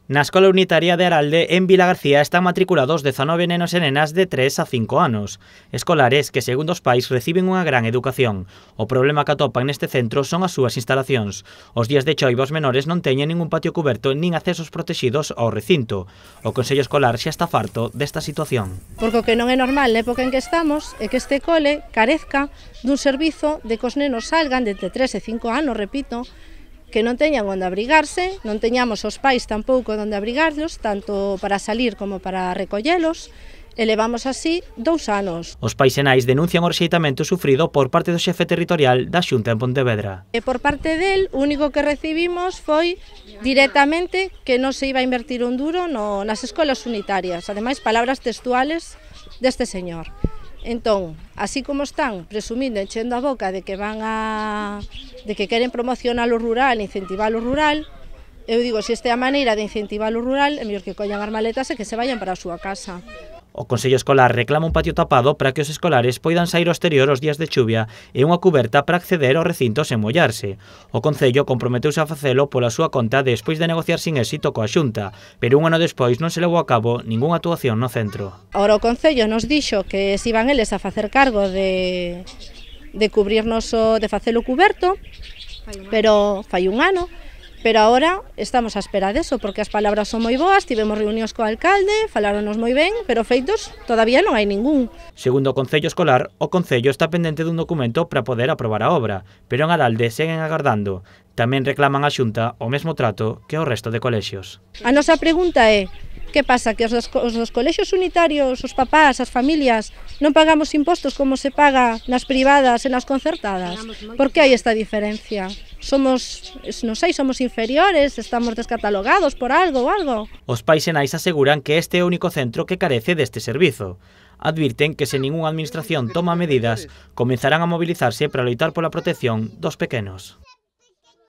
Na Escola Unitaria de Aralde, en Vilagarcía, están matriculados 19 nenos e nenas de 3 a 5 anos. Escolares que, segundo os pais, reciben unha gran educación. O problema que atopan neste centro son as súas instalacións. Os días de choiva os menores non teñen ningún patio cuberto nin accesos protegidos ao recinto. O Consello Escolar xa está farto desta situación. Porque o que non é normal na época en que estamos é que este cole carezca dun servizo de que os nenos salgan de 3 e 5 anos, repito, que non teñan onde abrigarse, non teñamos os pais tampouco onde abrigarlos, tanto para salir como para recollelos, e levamos así 2 anos. Os pais e nais denuncian o rexeitamento sufrido por parte do xefe territorial da Xunta en Pontevedra. E por parte del, o único que recibimos foi directamente que non se iba a invertir un duro nas escolas unitarias, ademais palabras textuales deste señor. Entón, así como están presumindo, enchendo a boca de que queren promocionar o rural, incentivar o rural, eu digo, se esta é a maneira de incentivar o rural, é mellor que collan as maletas e que se vayan para a súa casa. O Consello Escolar reclama un patio tapado para que os escolares poidan sair ao exterior os días de chuvia e unha cuberta para acceder ao recinto sen mollarse. O Concello comprometeuse a facelo pola súa conta despois de negociar sin éxito coa Xunta, pero un ano despois non se levou a cabo ningunha actuación no centro. Ahora o Concello nos dixo que se iban eles a facer cargo de cubrirnos, de facelo cuberto, pero fai un ano. Pero agora estamos á espera deso, porque as palabras son moi boas, tivemos reunións co alcalde, faláronos moi ben, pero feitos todavía non hai ningún. Segundo o Concello Escolar, o Concello está pendente dun documento para poder aprobar a obra, pero en Aralde seguen agardando. Tamén reclaman á Xunta o mesmo trato que ao resto de colexios. A nosa pregunta é: que pasa, que os dos colexios unitarios, os papás, as familias, non pagamos impostos como se paga nas privadas e nas concertadas? Por que hai esta diferencia? Somos inferiores, estamos descatalogados por algo ou algo? Os pais e nais aseguran que este é o único centro que carece deste servizo. Advirten que se ningunha administración toma medidas, comenzarán a mobilizarse para loitar pola protección dos pequenos.